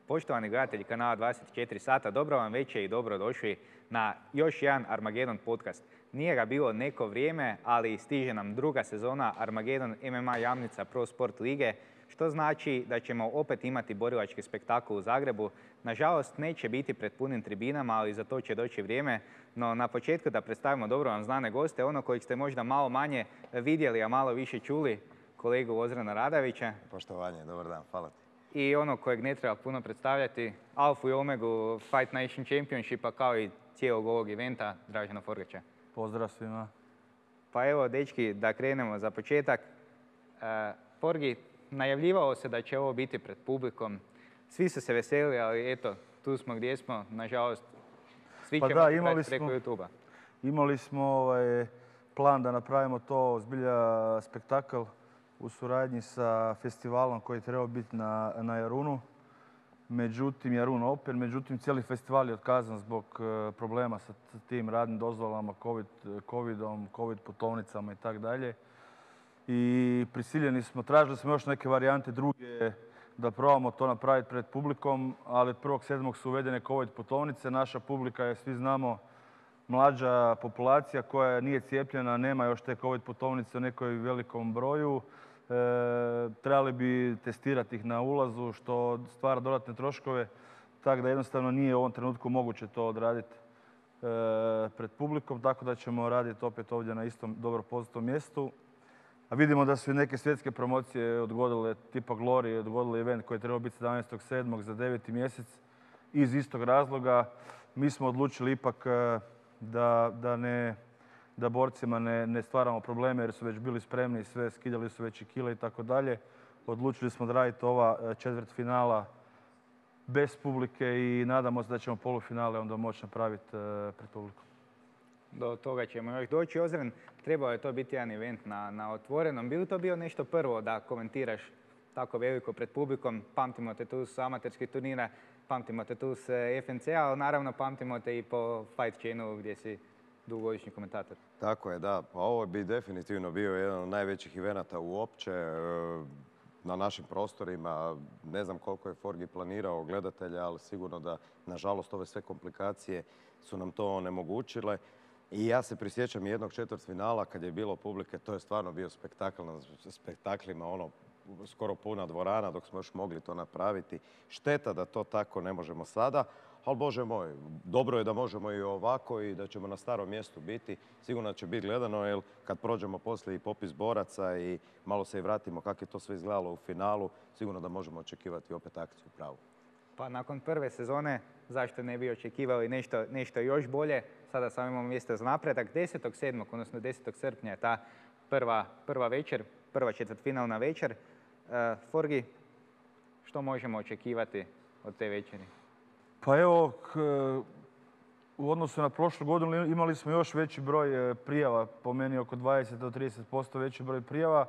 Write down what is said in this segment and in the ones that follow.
Poštovani gledatelji kanala 24 sata, dobro vam večer i dobro došli na još jedan Armagedon podcast. Nije ga bilo neko vrijeme, ali stiže nam druga sezona Armagedon MMA Jamnica Pro Sport Lige, što znači da ćemo opet imati borilački spektakl u Zagrebu. Nažalost, neće biti pred punim tribinama, ali za to će doći vrijeme. No, na početku da predstavimo dobro vam znane goste, ono kojeg ste možda malo manje vidjeli, a malo više čuli, kolegu Ozrana Radavića. Poštovanje, dobar dan, hvala ti. I ono kojeg ne treba puno predstavljati, alfu i omegu Fight Nation Championshipa kao i cijelog ovog eventa, Dražena Forgača. Pozdrav svima. Pa evo, dečki, da krenemo za početak. Forgi, najavljivalo se da će ovo biti pred publikom. Svi su se veselili, ali eto, tu smo gdje smo. Nažalost, svi ćemo gledati preko YouTube-a. Imali smo plan da napravimo to zbilja spektakl u suradnji sa festivalom koji je trebao biti na Jarunu. Međutim, Jarun Open, međutim cijeli festival je otkazan zbog problema sa tim radnim dozvolama, covidom, covid putovnicama i tako dalje. I prisiljeni smo, tražili smo još neke varijante druge da probamo to napraviti pred publikom, ali od 1.7. su uvedene covid putovnice. Naša publika je, svi znamo, mlađa populacija koja nije cijepljena, nema još te covid putovnice u nekoj velikom broju. Trebali bi testirati ih na ulazu, što stvara dodatne troškove, tako da jednostavno nije u ovom trenutku moguće to odraditi pred publikom, tako da ćemo raditi opet ovdje na istom dobro poznatom mjestu. A vidimo da su i neke svjetske promocije odgodile, tipa Glory, odgodile event koji je trebao biti 17.7. za 9. mjesec iz istog razloga. Mi smo odlučili ipak da borcima ne stvaramo probleme jer su već bili spremni i sve, skidali su već i kile i tako dalje. Odlučili smo da raditi ova četvrtfinala bez publike i nadamo se da ćemo polufinale onda moći napraviti pred publikom. Do toga ćemo još doći. Ozren, trebao je to biti jedan event na otvorenom. Bi li to bio nešto prvo da komentiraš tako veliko pred publikom? Pamtimo te tu s amaterskih turnira, pamtimo te tu s FNC-a, ali naravno pamtimo te i po Fight Channelu gdje si dugogodišnji komentator. Tako je, da. Pa ovo bi definitivno bio jedan od najvećih evenata uopće na našim prostorima. Ne znam koliko je Forgi planirao gledatelja, ali sigurno da, nažalost, ove sve komplikacije su nam to onemogućile. I ja se prisjećam jednog četvrtfinala kad je bilo publike, to je stvarno bio spektakl na spektaklima, skoro puna dvorana dok smo još mogli to napraviti. Šteta da to tako ne možemo sada, ali Bože moj, dobro je da možemo i ovako i da ćemo na starom mjestu biti. Sigurno će biti gledano, jer kad prođemo poslije i popis boraca i malo se i vratimo kako je to sve izgledalo u finalu, sigurno da možemo očekivati opet akciju pravu. Pa nakon prve sezone, zašto ne bi očekivali nešto još bolje? Sada samo imamo mjesto za napredak. 10.7., odnosno 10. srpnja je ta prva večer, prva četvrtfinalna večer. Forgi, što možemo očekivati od te večeri? Pa evo, u odnosu na prošlu godinu imali smo još veći broj prijava, po meni oko 20 do 30% veći broj prijava.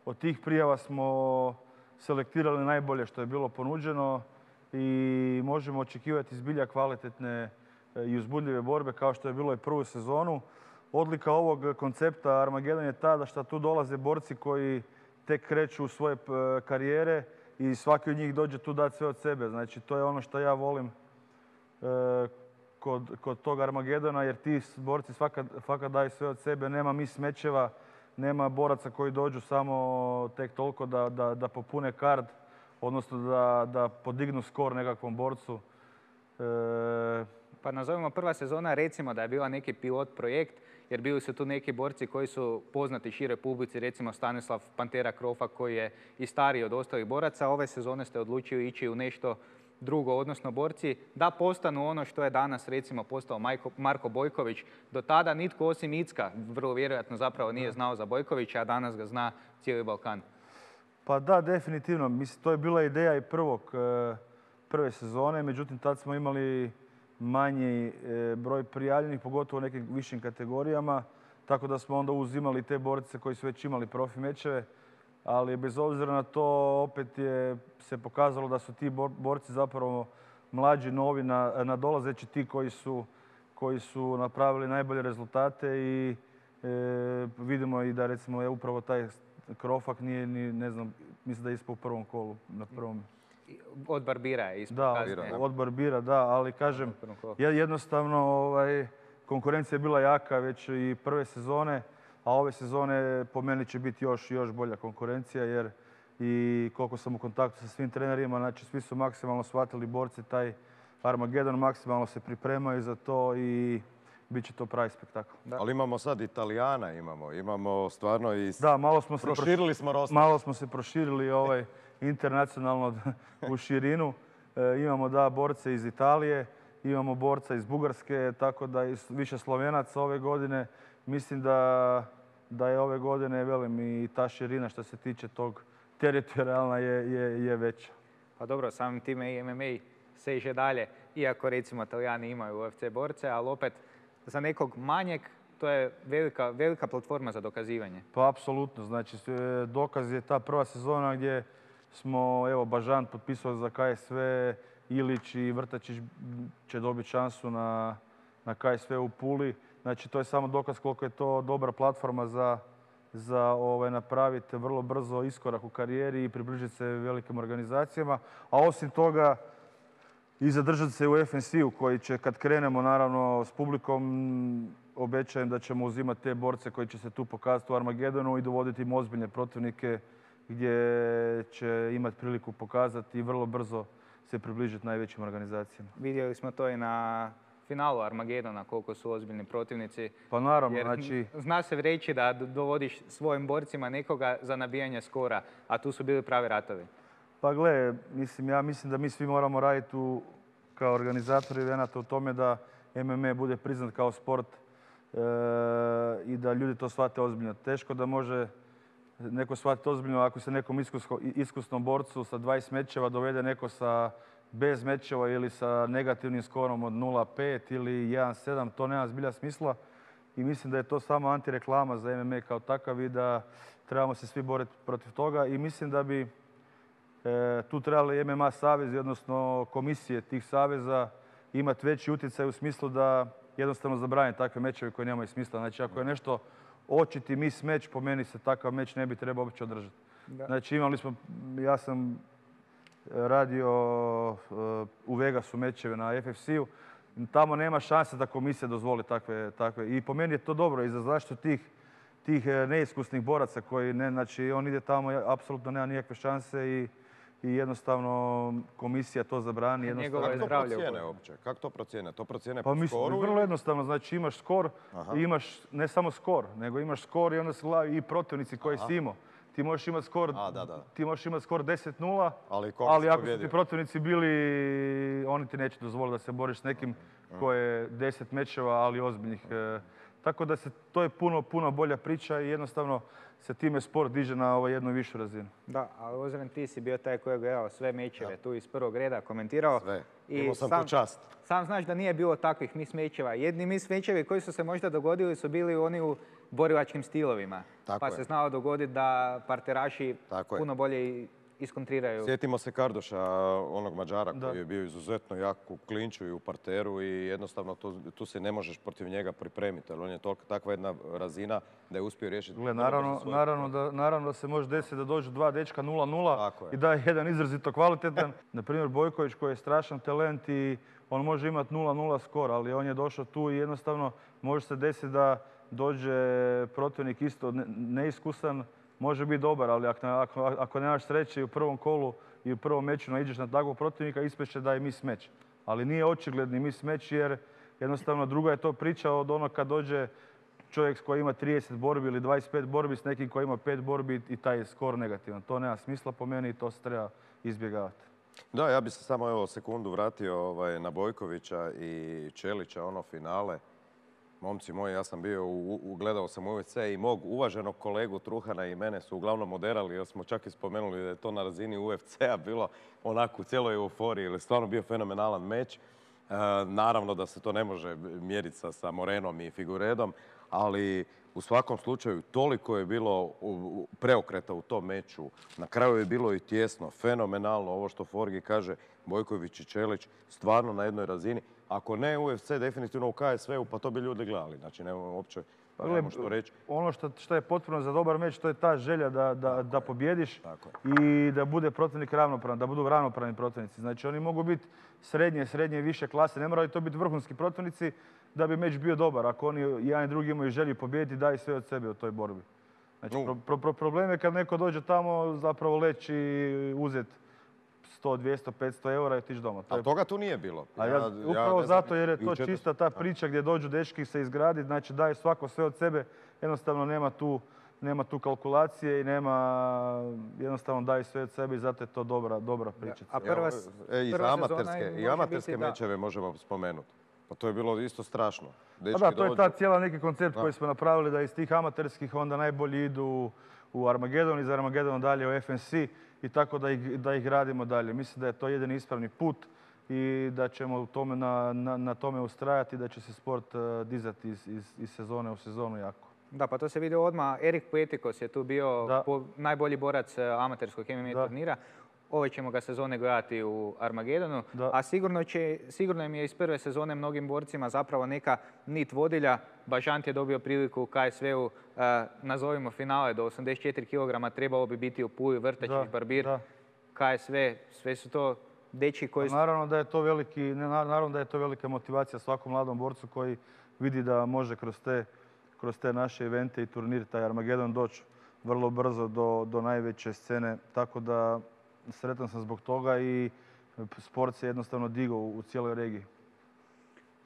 Od tih prijava smo selektirali najbolje što je bilo ponuđeno i možemo očekivati zbilja kvalitetne i uzbudljive borbe kao što je bilo i prvu sezonu. Odlika ovog koncepta Armagedon je ta da što tu dolaze borci koji tek kreću u svoje karijere i svaki od njih dođe tu dati sve od sebe. Znači, to je ono što ja volim kod tog Armagedona, jer ti borci svaka daju sve od sebe, nema mis mečeva, nema boraca koji dođu samo tek toliko da popune kard, odnosno da podignu skor nekakvom borcu. Pa nazovimo prva sezona, recimo da je bila neki pilot projekt, jer bili su tu neki borci koji su poznati široj publici, recimo Stanislav Pantera Krofa koji je i stariji od ostalih boraca. Ove sezone ste odlučili ići u nešto drugo, odnosno borci da postanu ono što je danas recimo postao Marko Bojković. Do tada nitko osim Icka vrlo vjerojatno zapravo nije znao za Bojkovića, a danas ga zna cijeli Balkan. Pa da, definitivno. Mislim, to je bila ideja i prve sezone, međutim tad smo imali manji broj prijavljenih, pogotovo u nekim višim kategorijama, tako da smo onda uzimali te borce koji su već imali profi mečeve, ali bez obzira na to opet se pokazalo da su ti borci zapravo mlađi, novi, nadolazeći, ti koji su napravili najbolje rezultate i vidimo i da recimo je upravo taj Krofak nije ni, ne znam, mislim da je ispao u prvom kolu, na prvom. od Barbira je ispod Da, kasnije. od Barbira, da, ali kažem, jednostavno konkurencija je bila jaka već i prve sezone, a ove sezone po meni će biti još bolja konkurencija jer i koliko sam u kontaktu sa svim trenerima, znači svi su maksimalno shvatili borci taj Armagedon, maksimalno se pripremaju za to i bit će to pravi spektakl. Ali imamo sad Italijana, imamo stvarno i... Da, proširili smo roster. Malo smo se proširili internacionalno u širinu. Imamo da borce iz Italije, imamo borca iz Bugarske, tako da i više Slovenaca ove godine. Mislim da je ove godine, velim, i ta širina što se tiče tog teritorijalna je veća. Pa dobro, samim time i MMA seže dalje, iako recimo Italijani imaju UFC borce, ali opet za nekog manjeg to je velika platforma za dokazivanje. Pa apsolutno, znači dokaz je ta prva sezona gdje smo, evo, Bažant potpisao za KSV, Ilić i Vrtačić će dobiti šansu na KSV u Puli. Znači to je samo dokaz koliko je to dobra platforma za napraviti vrlo brzo iskorak u karijeri i približiti se velikim organizacijama. A osim toga i zadržati se u FNC-u koji će, kad krenemo naravno s publikom, obećajem da ćemo uzimati te borce koji će se tu pokazati u Armagedonu i dovoditi im ozbiljne protivnike gdje će imati priliku pokazati i vrlo brzo se približiti najvećim organizacijama. Vidjeli smo to i na finalu Armagedona, koliko su ozbiljni protivnici. Pa naravno, jer znači... Zna se reći da dovodiš svojim borcima nekoga za nabijanje skora, a tu su bili pravi ratovi. Pa gle, ja mislim da mi svi moramo raditi kao organizatori evenata u tome da MMA bude priznat kao sport i da ljudi to shvate ozbiljno. Teško da može neko shvatiti ozbiljno ako se nekom iskusnom borcu sa 20 mečeva dovede neko bez mečeva ili sa negativnim skorom od 0,5 ili 1,7, to nema zbilja smisla. I mislim da je to samo antireklama za MMA kao takav i da trebamo se svi boriti protiv toga. I mislim da bi tu trebali MMA savezi, odnosno komisije tih saveza, imati veći utjecaj u smislu da jednostavno zabrane takve mečeve koji nemaju smisla. Znači ako je nešto očiti meč, po meni se takav meč ne bi trebao uopće održati. Znači ja sam radio u Vegasu mečeve na FFC-u, tamo nema šanse da komisija dozvoli takve. I po meni je to dobro i za zaštitu tih neiskusnih boraca koji znači on ide tamo, apsolutno nema nikakve šanse i jednostavno komisija to zabrani. Jednostavno Kako to procijene uopće? Kako to procijene? To procijene po skoru? Vrlo jednostavno, znači imaš skor i imaš ne samo skor, nego imaš skor i onda se gledaju i protivnici koji si imao. Ti možeš imati skor 10-0, ali ako su ti protivnici bili, oni ti neće dozvoliti da se boriš s nekim ko je 10 mečeva, ali ozbiljnih. Tako da to je puno bolja priča i jednostavno se time sport diže na jednu višu razinu. Da, ali Ozren, ti si bio taj koji je gledao sve mečeve tu iz prvog reda, komentirao. Sve. Imao sam tu čast. Sam znaš da nije bilo takvih mis mečeva. Jedni mis mečevi koji su se možda dogodili su bili oni u borilačkim stilovima. Pa se znalo dogoditi da parteraši puno bolje iskontriraju. Sjetimo se Kardoša, onog Mađara koji je bio izuzetno jak u klinču i u parteru i jednostavno tu se ne možeš protiv njega pripremiti. On je takva jedna razina da je uspio riješiti. Naravno da se može desiti da dođu dva dečka 0-0 i da je jedan izrazito kvalitetan. Naprimjer Bojković koji je strašan talent i on može imati 0-0 skor, ali on je došao tu i jednostavno može se desiti da dođe protivnik isto neiskusan, može biti dobar, ali ako nemaš sreće i u prvom kolu i u prvom meču naiđeš na takvog protivnika, ispeće da je mis meč. Ali nije očigledni mis meč jer jednostavno druga je to priča od onog kad dođe čovjek koji ima 30 borbi ili 25 borbi s nekim koji ima 5 borbi i taj je skor negativan. To nema smisla po meni i to se treba izbjegavati. Da, ja bih se samo sekundu vratio na Bojkovića i Čelića, ono finale. Momci moji, ja sam bio, gledao sam UFC i mog uvaženog kolegu Truhana i mene su uglavnom oderali jer smo čak i spomenuli da je to na razini UFC-a bilo onako u cijeloj euforiji jer je stvarno bio fenomenalan meč. Naravno da se to ne može mjeriti sa Morenom i Figuredom, ali u svakom slučaju toliko je bilo preokreta u tom meču. Na kraju je bilo i tjesno, fenomenalno, ovo što Forgi kaže, Bojković i Čelić stvarno na jednoj razini. Ako ne UFC, definitivno u KSV-u, pa to bi ljudi gledali. Znači, nemamo uopće Pa nemamo gle, što reći. ono što je potrebno za dobar meč, to je ta želja da pobjediš Tako i da bude protivnik ravnopravan, da budu ravnopravni protivnici. Znači oni mogu biti srednje i više klase, ne moraju to biti vrhunski protivnici da bi meč bio dobar. Ako oni jedan i drugi imaju želju pobijediti, daju sve od sebe u toj borbi. Znači problem je kad neko dođe tamo zapravo leći i uzeti 100, 200, 500 eura i otići doma. Ali toga tu nije bilo. Upravo zato jer je to čista ta priča gdje dođu dečki se izgradi, znači daju svako sve od sebe, jednostavno nema tu kalkulacije i jednostavno daju sve od sebe i zato je to dobra pričica. I amaterske mečeve možemo spomenuti. Pa to je bilo isto strašno. To je ta cijela neki koncept koji smo napravili da iz tih amaterskih onda najbolji idu u Armagedon, iz Armagedona dalje u FNC i tako da ih radimo dalje. Mislim da je to jedini ispravni put i da ćemo na tome ustrajati i da će se sport dizati iz sezone u sezonu jako. Da, pa to se vidi odmah. Erik Puetikos je tu bio najbolji borac amaterskog MMA turnira. Ove ćemo ga sezone gledati u Armagedonu, a sigurno im je iz prve sezone mnogim borcima zapravo neka nit vodilja. Bažant je dobio priliku u KSV-u, nazovimo finale do 84 kg, trebalo bi biti u Puli, Vrtačić, Barbir, KSV, sve su to dečki koji su... Naravno da je to velika motivacija svakom mladom borcu koji vidi da može kroz te naše evente i turnir, taj Armagedon, doći vrlo brzo do najveće scene, tako da sretan sam zbog toga i sport se jednostavno digao u cijeloj regiji.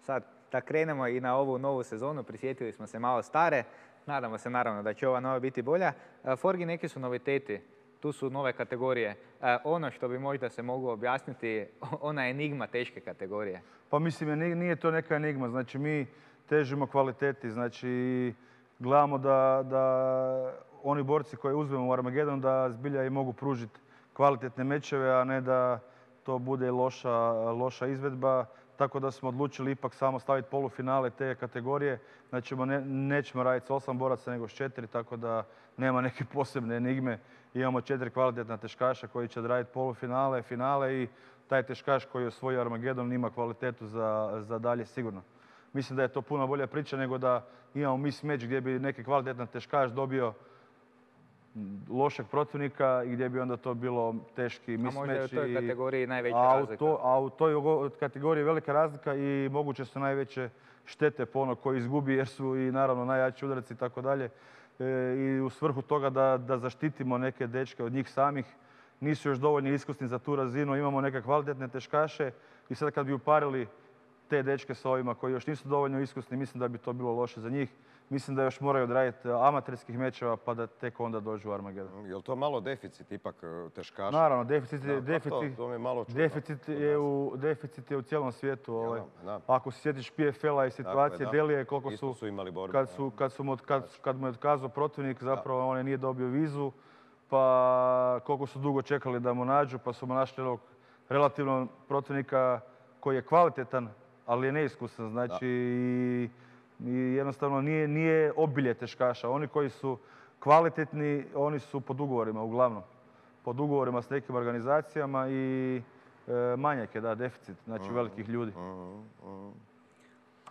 Sad da krenemo i na ovu novu sezonu, prisjetili smo se malo stare, nadamo se naravno da će ova nova biti bolja. Forgi, neki su noviteti, tu su nove kategorije. Ono što bi možda se moglo objasniti, ona enigma teške kategorije. Pa mislim, nije to neka enigma, znači mi težimo kvaliteti, znači gledamo da oni borci koje uzmemo u Armagedon da zbilja i mogu pružiti kvalitetne mečeve, a ne da to bude loša izvedba. Tako da smo odlučili ipak samo staviti polufinale te kategorije. Znači nećemo raditi s 8 boraca nego s 4, tako da nema neke posebne enigme. Imamo 4 kvalitetna teškaša koji će odraditi polufinale, finale i taj teškaš koji je osvojio Armagedon ima kvalitetu za dalje sigurno. Mislim da je to puno bolja priča nego da imamo mis meč gdje bi neki kvalitetan teškaš dobio lošeg protivnika i gdje bi onda to bilo teški mismeč. A možda je u toj kategoriji najveća razlika. A u toj kategoriji je velika razlika i moguće su najveće štete po ono koji izgubi jer su i naravno najjači udarci i tako dalje. I u svrhu toga da zaštitimo neke dečke od njih samih, nisu još dovoljno iskusni za tu razinu, imamo neke kvalitetne teškaše i sad kad bi uparili te dečke sa ovima koji još nisu dovoljno iskusni, mislim da bi to bilo loše za njih. Mislim da još moraju odraditi amaterskih mečeva pa da tek onda dođu u Armagedon. Je li to malo deficit ipak teškaša? Naravno, deficit je u cijelom svijetu. Ako se sjetiš PFL-a i situacije Delije, koliko su imali borbe. Kad mu je otkazao protivnik, zapravo on nije dobio vizu, pa koliko su dugo čekali da mu nađu, pa su mu našli relativno protivnika koji je kvalitetan, ali je neiskusan. Znači, i jednostavno nije obilje teškaša. Oni koji su kvalitetni, oni su pod ugovorima uglavnom. Pod ugovorima s nekim organizacijama i manjak je, deficit, znači velikih ljudi.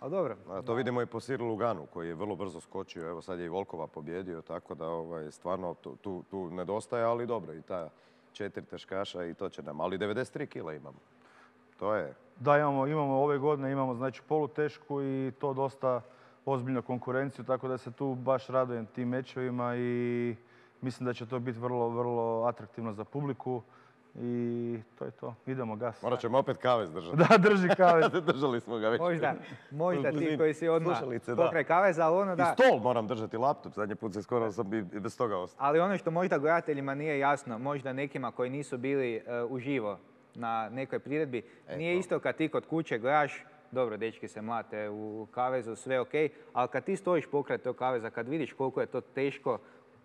Ali dobro. To vidimo i po Cyril Luganu koji je vrlo brzo skočio. Evo sad je i Volkova pobjedio, tako da stvarno tu nedostaje, ali dobro. I ta 4 teškaša i to će nam. Ali 93 kila imamo. To je... Da, imamo ove godine, imamo znači polutešku i to dosta ozbiljnu konkurenciju, tako da se tu baš radujem tim mečevima i mislim da će to biti vrlo, vrlo atraktivno za publiku i to je to. Idemo gas. Morat ćemo opet kavez držati. Da, drži kavez. Držali smo ga već. Možda ti koji si odmah pokraj kaveza, ali ono da... I stol moram držati, laptop. Zadnji put se skoro sam i bez toga ostao. Ali ono što možda gledateljima nije jasno, možda nekima koji nisu bili uživo na nekoj priredbi, nije isto kad ti kod kuće gledaš, dobro, dečki se mlate u kavezu, sve ok, ali kad ti stojiš pokraj tog kaveza, kad vidiš koliko je to teško,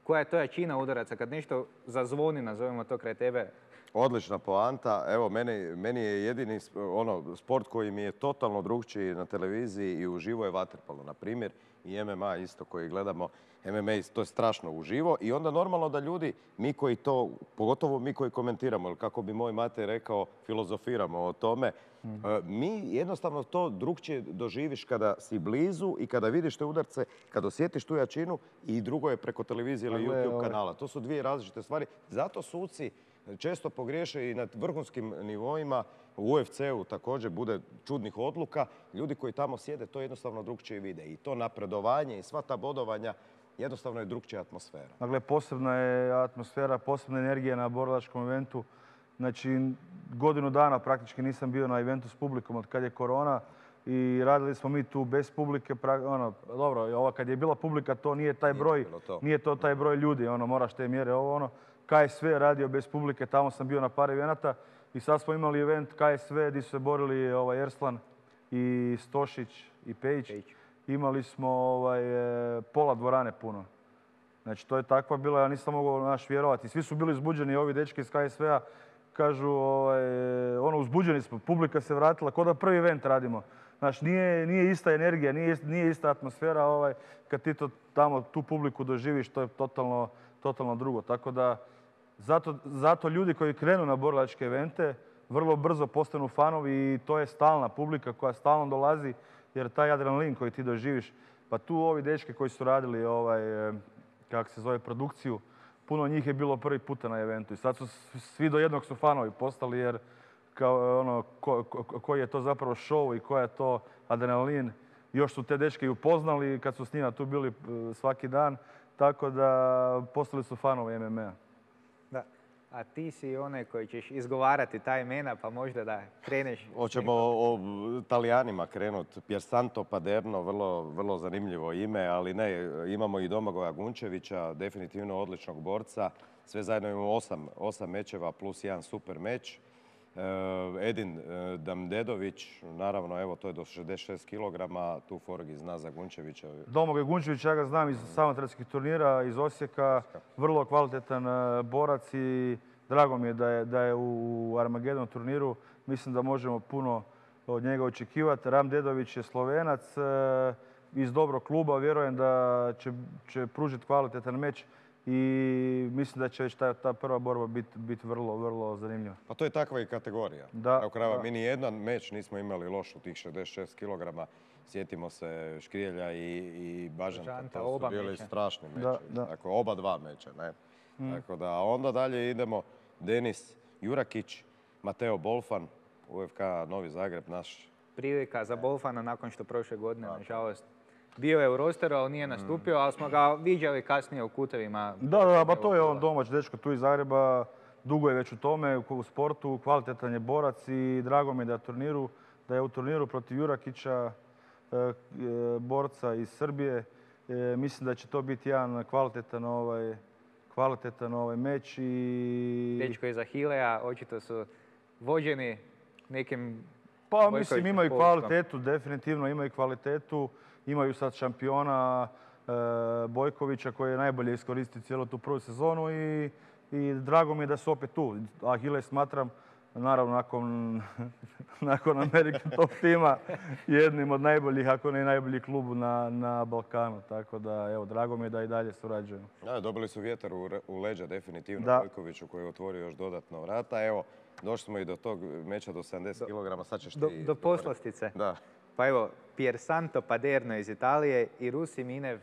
koja je to jačina udaraca, kad nešto zazvoni, nazovemo to kraj tebe, Odlična poanta. Evo, meni je jedini sport koji mi je totalno drukčiji na televiziji i uživo je vaterpolo, na primjer, i MMA isto koji gledamo. MMA to je strašno uživo i onda normalno da ljudi, mi koji to, pogotovo mi koji komentiramo, ili kako bi moj mate rekao, filozofiramo o tome, mi jednostavno to drukčije doživiš kada si blizu i kada vidiš te udarce, kada osjetiš tu jačinu, i drugo je preko televizije ili YouTube kanala. To su dvije različite stvari. Zato suci često pogriješe i na vrhunskim nivoima. U UFC-u također bude čudnih odluka. Ljudi koji tamo sjede to jednostavno drukčije vide. I to napredovanje i sva ta bodovanja jednostavno je drukčija atmosfera. Dakle, posebna je atmosfera, posebna energija na borilačkom eventu. Znači, godinu dana praktički nisam bio na eventu s publikom od kad je korona i radili smo mi tu bez publike. Dobro, kad je bila publika to nije taj broj, nije to taj broj ljudi, moraš te mjere, KSV je radio bez publike, tamo sam bio na par evenata i sad smo imali event KSV gdje su se borili Erslan i Stošić i Pejić. Imali smo pola dvorane puno. Znači, to je takva bila, ja nisam mogao vjerovati. Svi su bili uzbuđeni, ovi dečki iz KSV-a kažu, uzbuđeni smo, publika se vratila, kao da prvi event radimo. Znači, nije ista energija, nije ista atmosfera, kad ti tamo tu publiku doživiš, to je totalno drugo. Tako da, zato ljudi koji krenu na borilačke evente vrlo brzo postanu fanovi i to je stalna publika koja stalno dolazi, jer taj adrenalin koji ti doživiš, pa tu ovi dečki koji su radili produkciju, puno njih je bilo prvi puta na eventu i sad su svi do jednog su fanovi postali, jer koji je to zapravo show i koji je to adrenalin. Još su te dečke i upoznali kad su s njima tu bili svaki dan, tako da postali su fanovi MMA-a. Da. A ti si onaj koji ćeš izgovarati ta imena, pa možda da kreneš. Hoćemo o Talijanima krenuti. Piersanto Paderno, vrlo zanimljivo ime, ali ne, imamo i Domagoja Gunčevića, definitivno odličnog borca. Sve zajedno imamo 8 mečeva plus jedan super meč. Edin Damdedović, naravno, evo, to je do 66 kg, tu Forgi zna za Gunčevića. Domagoj Gunčević, ja ga znam iz samotarskih turnira, iz Osijeka, vrlo kvalitetan borac i drago mi je da je u Armagedon turniru. Mislim da možemo puno od njega očekivati. Ram Dedović je Slovenac iz dobrog kluba, vjerujem da će pružiti kvalitetan meč. I mislim da će već ta prva borba biti vrlo zanimljiva. Pa to je takva i kategorija. Da. Mi ni jedan meč nismo imali loš u tih 66 kg. Sjetimo se Škrijelja i Bažanta. To su bili strašni meče. Dakle, oba dva meča. Tako da, onda dalje idemo Denis Jurakić, Mateo Bolfan, UFK Novi Zagreb, naš. Prilika za Bolfana nakon što prošle godine, nažalost, bio je u rosteru, ali nije nastupio, ali smo ga viđali kasnije u kutevima. Da, pa to je on domać dečko tu iz Zagreba, dugo je već u tome, u sportu, kvalitetan je borac i drago mi je da je u turniru protiv Jurakića, borca iz Srbije. Mislim da će to biti jedan kvalitetan meč. Dečko iz Ahileja, očito su vođeni nekim... Pa mislim imaju kvalitetu, definitivno imaju kvalitetu. Imaju sad šampiona Bojkovića koji je najbolje iskoristio cijelu tu prvu sezonu i drago mi je da su opet tu. Ahile smatram, naravno nakon American Top tima, jednim od najboljih, ako ne najbolji klub na Balkanu. Tako da, evo, drago mi je da i dalje surađujemo. Dobili su vjetar u leđa definitivno Bojkoviću koji je otvorio još dodatno vrata. Evo, došli smo i do tog meča do 70 kg, sad ćeš ti... Do poslastice. Da. Pa evo, Piersanto Paderno iz Italije i Rusi Minev,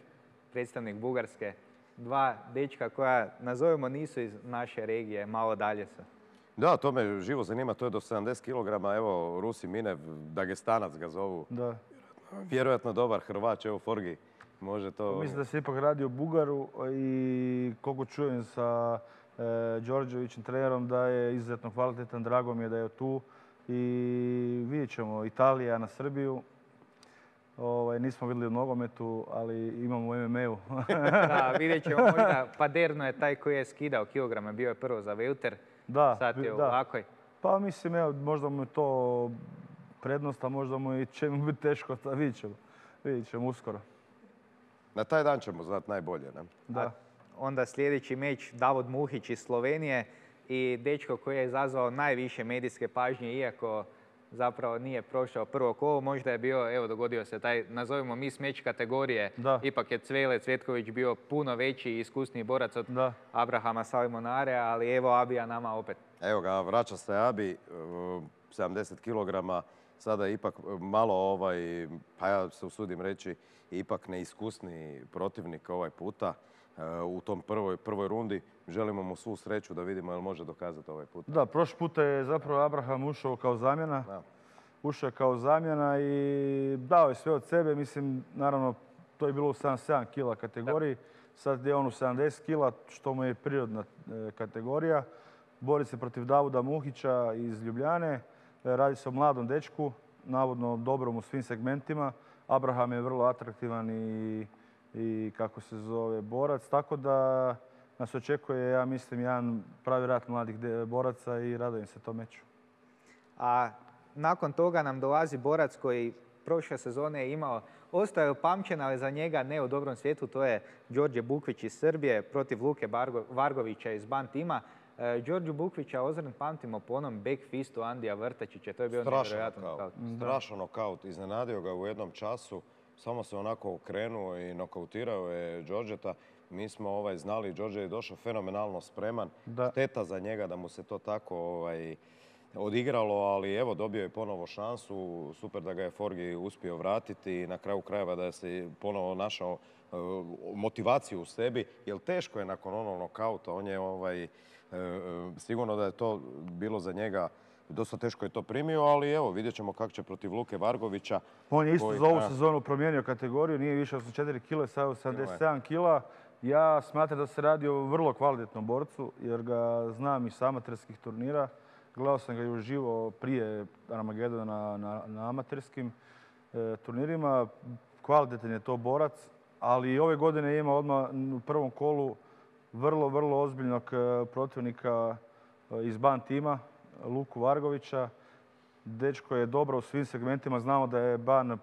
predstavnik Bugarske. Dva dečka koja, nazovemo, nisu iz naše regije, malo dalje su. Da, to me živo zanima, to je do 70 kg. Evo, Rusi Minev, Dagestanac ga zovu. Da. Vjerojatno dobar Hrvač, evo Forgi može to... Mislim da se ipak radi o Bugaru i koliko čujem sa Đorđevićem trenerom da je izuzetno kvalitetan, drago mi je da je tu. I vidjet ćemo Italija na Srbiju. Nismo vidjeli u nogometu, ali imamo u MMA-u. Da, vidjet ćemo možda. Paderno je taj koji je skidao kilograme, bio je prvo za welter, sad je u lakoj. Pa mislim, evo, možda mu je to prednost, a možda mu će mu biti teško, vidjet ćemo uskoro. Na taj dan ćemo znati najbolje, ne? Da. Onda sljedeći meč Davor Muhić iz Slovenije i dečko koji je izazvao najviše medijske pažnje, iako zapravo nije prošao prvo kolo. Možda je bio, evo dogodio se taj, nazovimo Miss Match kategorije, Da. ipak je Cvele Cvetković bio puno veći i iskusniji borac od Da. Abrahama Salimonare, ali evo Abija nama opet. Evo ga, vraća se Abi, 70 kg, sada je ipak malo pa ja se usudim reći, ipak neiskusni protivnik ovaj puta u tom prvoj rundi. Želimo mu svu sreću da vidimo jel može dokazati ovaj put. Da, prošli puta je zapravo Abraham ušao kao zamjena. Da. Ušao je kao zamjena i dao je sve od sebe. Mislim, naravno, to je bilo u 77 kila kategoriji. Sad je on u 70 kila, što mu je prirodna kategorija. Bori se protiv Davuda Muhića iz Ljubljane. Radi se o mladom dečku, navodno dobrom u svim segmentima. Abraham je vrlo atraktivan i kako se zove, borac. Tako da nas očekuje, ja mislim, jedan pravi rat mladih boraca i radujem se tom meču. A nakon toga nam dolazi borac koji prošle sezone je imao, ostao je upamćen, ali za njega ne u dobrom svijetu, to je Đorđe Bukvić iz Srbije protiv Luke Vargovića iz Ban tima. Đorđu Bukvića ozren pamtimo po onom backfistu Andija Vrtačića, to je bio nevjerojatan nokaut. Strašan nokaut, iznenadio ga u jednom času, samo se onako okrenuo i nokautirao je Đorđeta. Mi smo znali, Đorđe je došao fenomenalno spreman. Da. Šteta za njega da mu se to tako odigralo, ali evo dobio je ponovo šansu. Super da ga je Forgi uspio vratiti i na kraju krajeva da je se ponovo našao motivaciju u sebi. Jer teško je nakon onog nokauta, on je sigurno da je to bilo za njega, dosta teško je to primio, ali evo vidjet ćemo kako će protiv Luke Vargovića. On je isto za ovu sezonu promijenio kategoriju, nije više 84 kila, sad je 77 kila. Ja smatram da se radi o vrlo kvalitetnom borcu, jer ga znam iz amaterskih turnira. Gledao sam ga i uživo prije Armagedona na amaterskim turnirima. Kvalitetan je to borac, ali i ove godine ima odmah u prvom kolu vrlo, vrlo ozbiljnog protivnika iz Ban tima, Luku Vargovića. Dečko je dobro u svim segmentima. Znamo da je Ban,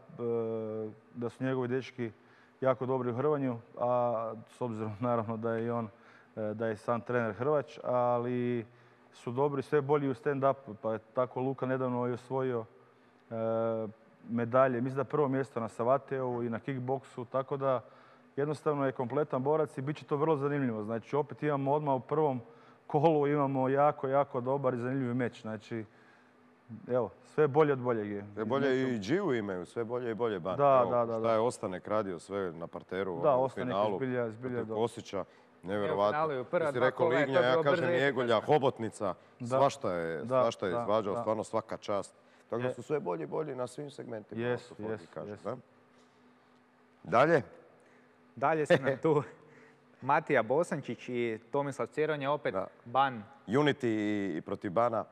da su njegovi dečki jako dobri u hrvanju, a s obzirom naravno da je i on, da je sam trener hrvač, ali su dobri sve bolji u stand-upu. Pa je tako Luka nedavno i osvojio medalje. Mislim da prvo mjesto na Savateju i na kickboksu, tako da jednostavno je kompletan borac i bit će to vrlo zanimljivo. Znači opet imamo odmah u prvom kolu imamo jako, jako dobar i zanimljiv meč. Znači, evo, sve bolje od boljeg je. Sve bolje i Dživu imaju, sve bolje i bolje Ban. Da. Šta je Ostanek radio sve na parteru Da, u Ostanek finalu. je zbilja dobro. Kosića, nevjerovatno. Evo, prva Ti si dva rekao kola je to Lignja, ja bilo kažem brzo i Njegolja, Hobotnica. Svašta je izvađao, da. stvarno svaka čast. Tako da su sve bolji i bolji na svim segmentima. Jesu. Dalje? Dalje su nam tu Matija Bosančić i Tomislav Ceronja, opet Ban. Unity i protiv Bana,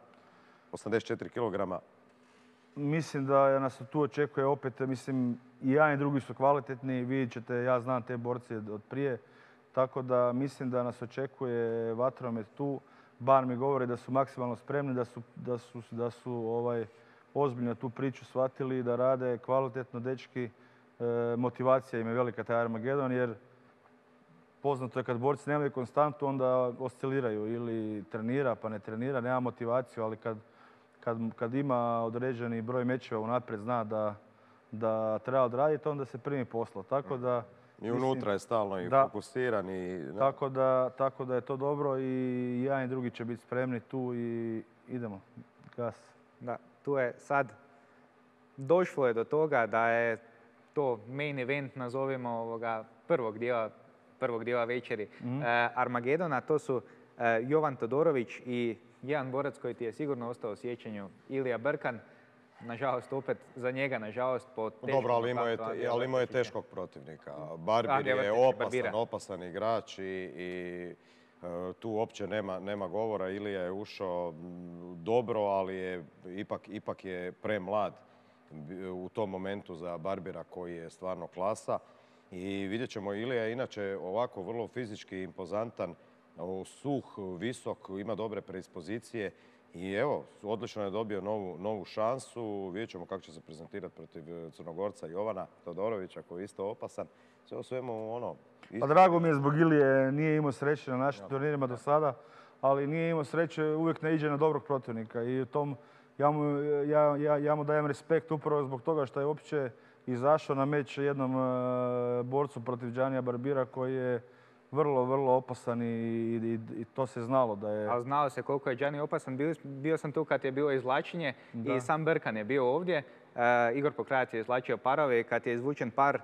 84 kg. Mislim da nas tu očekuje opet, mislim, i jedan i drugi su kvalitetni. Vidjet ćete, ja znam te borce od prije. Tako da mislim da nas očekuje vatromet tu. Ban mi govori da su maksimalno spremni, da su ozbiljno tu priču shvatili, da rade kvalitetno dečki. Motivacija im je velika taj Armagedon, jer poznato je kad borci nemaju konstantu, onda osciliraju ili trenira pa ne trenira, nema motivaciju, ali kad ima određeni broj mečeva unaprijed zna da treba odraditi, onda se primi posla. Tako da, i unutra je stalno i fokusiran. Tako da je to dobro i jedan i drugi će biti spremni tu i idemo. Gas. Da, tu je sad došlo je do toga da je to main event, nazovimo prvog dijela večeri Armagedona. To su Jovan Todorović i jedan borac koji ti je sigurno ostao u sjećanju, Ilija Brkan. Nažalost, opet za njega, nažalost, po teškom... Dobro, ali imao je teškog protivnika. Barbir je opasan igrač i tu uopće nema govora. Ilija je ušao dobro, ali ipak je premlad u tom momentu za Barbira koji je stvarno klasa. I vidjet ćemo, Ilija je inače ovako vrlo fizički impozantan, suh, visok, ima dobre predispozicije. I evo, odlično je dobio novu šansu. Vidjet ćemo kako će se prezentirati protiv Crnogorca Jovana Todorovića koji je isto opasan. Sve o svemu Pa drago mi je zbog Ilije, nije imao sreće na našim turnirima do sada, ali nije imao sreće, uvijek naiđe na dobrog protivnika. I u tom ja mu dajem respekt upravo zbog toga što je uopće izašao na meč jednom borcu protiv Giannia Barbira koji je vrlo, vrlo opasan i to se znalo da je... Ali znalo se koliko je Gianni opasan. Bio sam tu kad je bilo izvlačenje i sam Brkan je bio ovdje. Igor Pokrajac je izvlačio parove i kad je izvučen par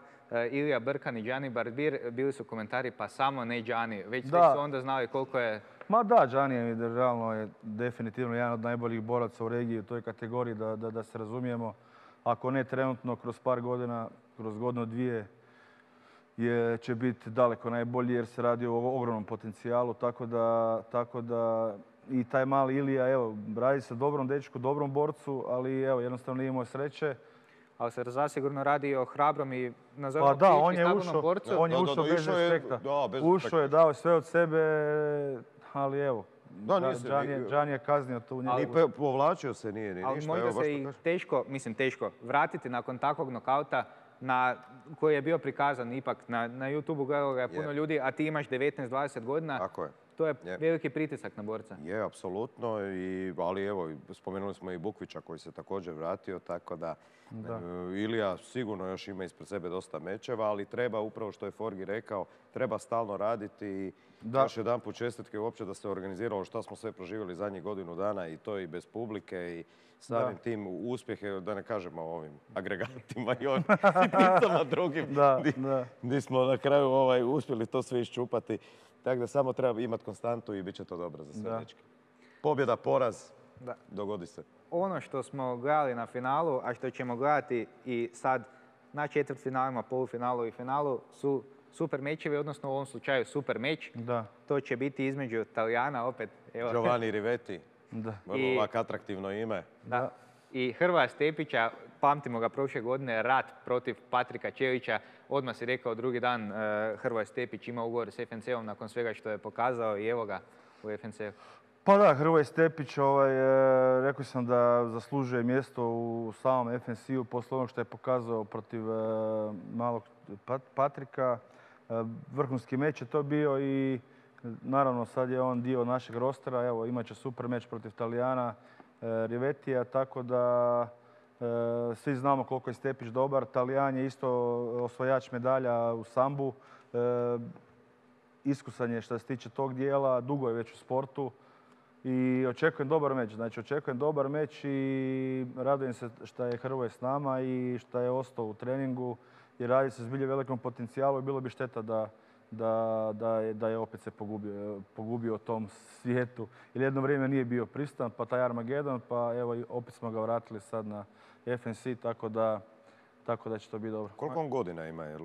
Ilija Brkan i Gianni Barbir, bili su komentari pa samo ne Gianni. Već su onda znali koliko je... Ma da, Gianni je realno je definitivno jedan od najboljih boraca u regiji u toj kategoriji, da se razumijemo. Ako ne trenutno, kroz par godina, kroz godinu, dvije, će biti daleko najbolji jer se radi o ogromnom potencijalu. Tako da i taj mali Ilija, evo, radi se dobrom dečku, dobrom borcu, ali evo, jednostavno nije imao sreće. Ali se zasigurno radi o hrabrom i nazovimo stabilnom borcu. On je ušao bez respekta. Ušao je, dao sve od sebe, ali evo, Gianni je kaznio tu. I povlačio se, nije ni ništa. Ali možda se i teško vratiti nakon takvog nokauta koji je bio prikazan ipak na YouTubeu, gledalo ga je puno ljudi, a ti imaš 19-20 godina. Tako je. To je veliki pritisak na borca. Je, apsolutno, ali evo, spomenuli smo i Bukvića koji se također vratio, tako da Ilija sigurno još ima ispred sebe dosta mečeva, ali treba, upravo što je Forgi rekao, treba stalno raditi i još jedanput čestitke uopće da se organiziralo što smo sve proživjeli zadnjih godinu dana i to i bez publike i samim tim uspjehe, da ne kažemo o ovim agregatima i ovim sitnicama drugim, gdje smo na kraju uspjeli to sve iščupati. Tako da samo treba imati konstantu i bit će to dobro za sve dečke. Pobjeda, poraz, dogodi se. Ono što smo gledali na finalu, a što ćemo gledati i sad na četvrtfinalima, polufinalu i finalu su super mečevi, odnosno u ovom slučaju super meč. To će biti između Talijana opet. Giovanni Rivetti, vrlo ovako atraktivno ime. I Hrvoja Stepića, pamtimo ga prošle godine, rat protiv Patrika Ćelića. Odmah si rekao drugi dan Hrvoje Stepić ima ugovor s FNC-om nakon svega što je pokazao i evo ga u FNC-u. Pa da, Hrvoje Stepić, rekao sam da zaslužuje mjesto u samom FNC-u posle onog što je pokazao protiv malog Patrika. Vrhunski meč je to bio i naravno sad je on dio našeg rostera. Evo, imat će super meč protiv Talijana Rivettija, tako da svi znamo koliko je Stepić dobar. Talijan je isto osvajač medalja u sambu. Iskusan je što se tiče tog dijela, dugo je već u sportu i očekujem dobar meč. Znači, očekujem dobar meč i radujem se što je Hrvoje s nama i što je ostao u treningu i radi se zbilje velikom potencijalu i bilo bi šteta da je opet se pogubio u tom svijetu. Jer jedno vrijeme nije bio pristan, pa taj Armagedon, pa evo opet smo ga vratili sad na FNC, tako da će to biti dobro. Koliko on godina ima?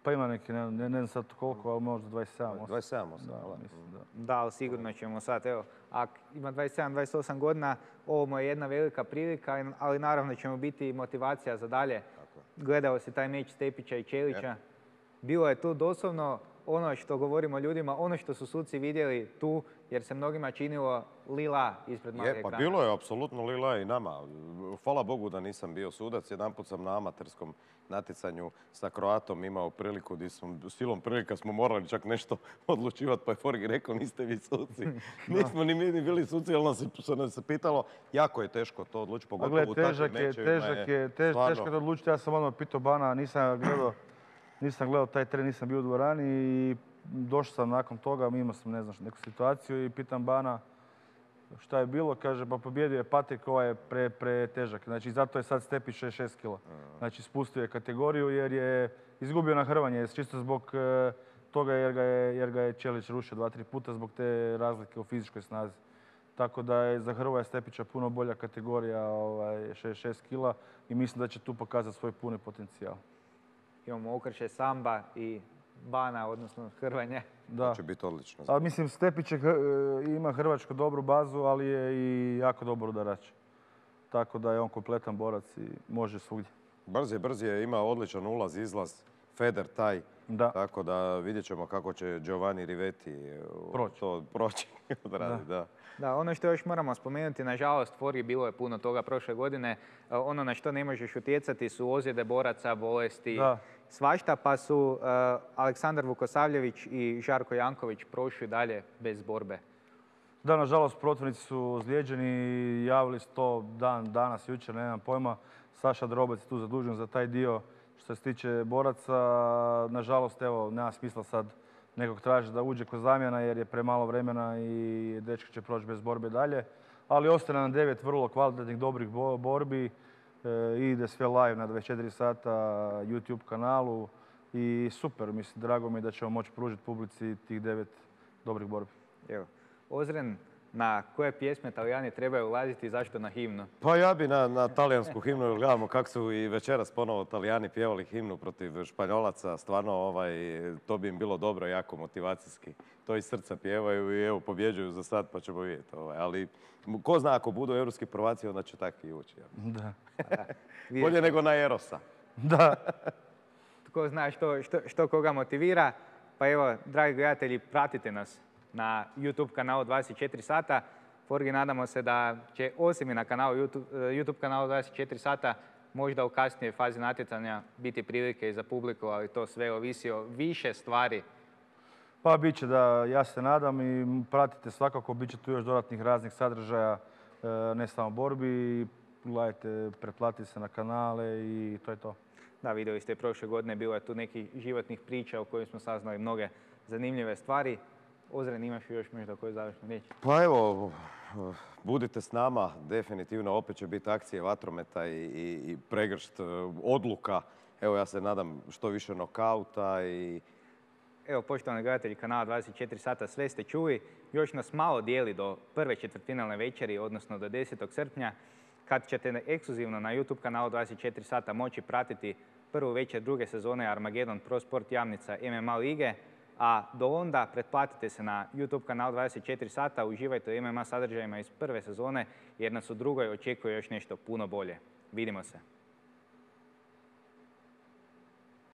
Pa ima neki, ne znam sad koliko, ali možda 27. 27, da, ali sigurno ćemo sad, evo, ako ima 27-28 godina, ovo mu je jedna velika prilika, ali naravno ćemo biti motivacija za dalje. Gledao si taj meč Stepića i Ćelića. Bilo je tu doslovno ono što govorimo ljudima, ono što su suci vidjeli tu, jer se mnogima činilo lila ispred malog ekrana. Pa bilo je apsolutno lila i nama. Hvala Bogu da nisam bio sudac. Jedanput sam na amaterskom natjecanju sa Kroatom imao priliku gdje silom prilika smo morali čak nešto odlučivati, pa je Forgi rekao niste vi suci. Nismo ni mi bili suci, ali nas se pitalo, jako je teško to odlučiti, pogotovo u takvim mečevima. Teško je to odlučiti, ja sam odmah pitao Bana, nisam gledao taj tren, nisam bio u dvorani i došao sam nakon toga, imao sam neku situaciju i pitam Bana šta je bilo, kaže pa pobjedio je Patrik, ovaj je pretežak. Znači zato je sad Stepić 66 kila. Znači spustio je kategoriju jer je izgubio na hrvanje, čisto zbog toga jer ga je Ćelić rušio 2-3 puta zbog te razlike u fizičkoj snazi. Tako da je za Hrvoja Stepića puno bolja kategorija 66 kila i mislim da će tu pokazati svoj puni potencijal. Imamo Okrše, Samba i Bana, odnosno Hrvanje. To će biti odlično. Ali mislim, Stepić ima hrvačku dobru bazu, ali je i jako dobar udarač. Tako da je on kompletan borac i može svugdje. Brz je, ima odličan ulaz, izlaz, Feder taj. Tako da vidjet ćemo kako će Giovanni Rivetti to proći. Da, ono što još moramo spomenuti, nažalost, Forgi bilo je puno toga prošle godine. Ono na što ne možeš utjecati su ozljede boraca, bolesti, svašta, pa su Aleksandar Vukosavljević i Žarko Janković prošli dalje bez borbe. Da, nažalost, protivnici su ozlijeđeni, javili su to danas, jučer, nemam pojma. Saša Drobec je tu zadužen za taj dio što se tiče boraca. Nažalost, evo, nema smisla sad nekog tražiti da uđe kod zamjena jer je premalo vremena i dečki će proći bez borbe dalje. Ali ostaje nam 9 vrlo kvalitetnih, dobrih borbi. Ide sve live na 24 sata YouTube kanalu i super, mislim, drago mi je da ćemo moći pružiti publici tih 9 dobrih borbi. Evo, Ozren, na koje pjesme Talijani trebaju ulaziti i zašto na himnu? Pa ja bi na talijansku himnu, jer gledamo kako su i večeras ponovo Talijani pjevali himnu protiv Španjolaca. Stvarno, to bi im bilo dobro, jako motivacijski. To iz srca pjevaju i evo, pobjeđuju za sad, pa ćemo vidjeti. Ali ko zna, ako budu europski prvaci, onda će takvi i ući. Da. Bolje nego na Erosa. Da. Tko zna što koga motivira. Pa evo, dragi gledatelji, pratite nas na YouTube kanalu 24 sata. Forgi, nadamo se da će osim i na YouTube kanalu 24 sata možda u kasnijoj fazi natjecanja biti prilike i za publiku, ali to sve ovisi o više stvari. Pa bit će da, ja se nadam i pratite svakako, bit će tu još dodatnih raznih sadržaja, ne samo borbi. Gledajte, pretplatite se na kanale i to je to. Da, vidjeli ste, prošle godine bilo je tu nekih životnih priča u kojima smo saznali mnoge zanimljive stvari. Ozren, imaš još možda koju završnu riječ? Pa evo, budite s nama, definitivno opet će biti akcije vatrometa i pregršt odluka. Evo, ja se nadam što više nokauta i... Evo, poštovani gledatelji kanala 24 sata, sve ste čuli. Još nas malo dijeli do prve četvrtfinalne večeri, odnosno do 10. srpnja, kad ćete ekskluzivno na YouTube kanalu 24 sata moći pratiti prvu večer druge sezone Armagedon Pro Sport Jamnica MMA lige. A do onda pretplatite se na YouTube kanal 24 sata, uživajte u MMA sadržajima iz prve sezone jer nas u drugoj očekuje još nešto puno bolje. Vidimo se.